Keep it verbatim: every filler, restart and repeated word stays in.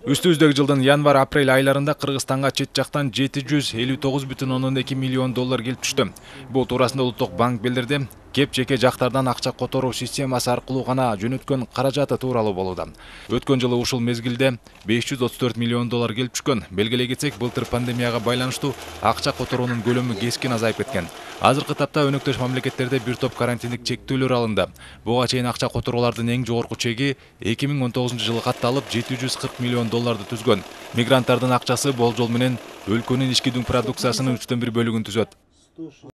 Үстүбүздөгү жылдын январь-апрель айларында Кыргызстанга чет жактан жети жүз элүү тогуз бүтүн ондон эки миллион доллар келип түштү. Бул туурасында Улуттук банк билдирди. Кеп жеке жактардан акча которуу системасы аркылуу гана жөнөткөн каражаты тууралуу болууда. Өткөн жылы ушул мезгилде беш жүз отуз төрт миллион доллар келип түшкөн. Белгилей кетсек, былтыр пандемияга байланыштуу акча которуунун көлөмү кескин азайып кеткен. Азыркы тапта өнөктөш мамлекеттерде бир топ карантиндик чектөөлөр алынды. Буга чейин акча которуулардын эң жогорку чеги эки миң он тогузунчу жылы катталып жети жүз кырк миллион долларды түзгөн. Мигранттардын акчасы болжол менен өлкөнүн ички дүң продукциясынын үчтөн бир бөлүгүн түзөт.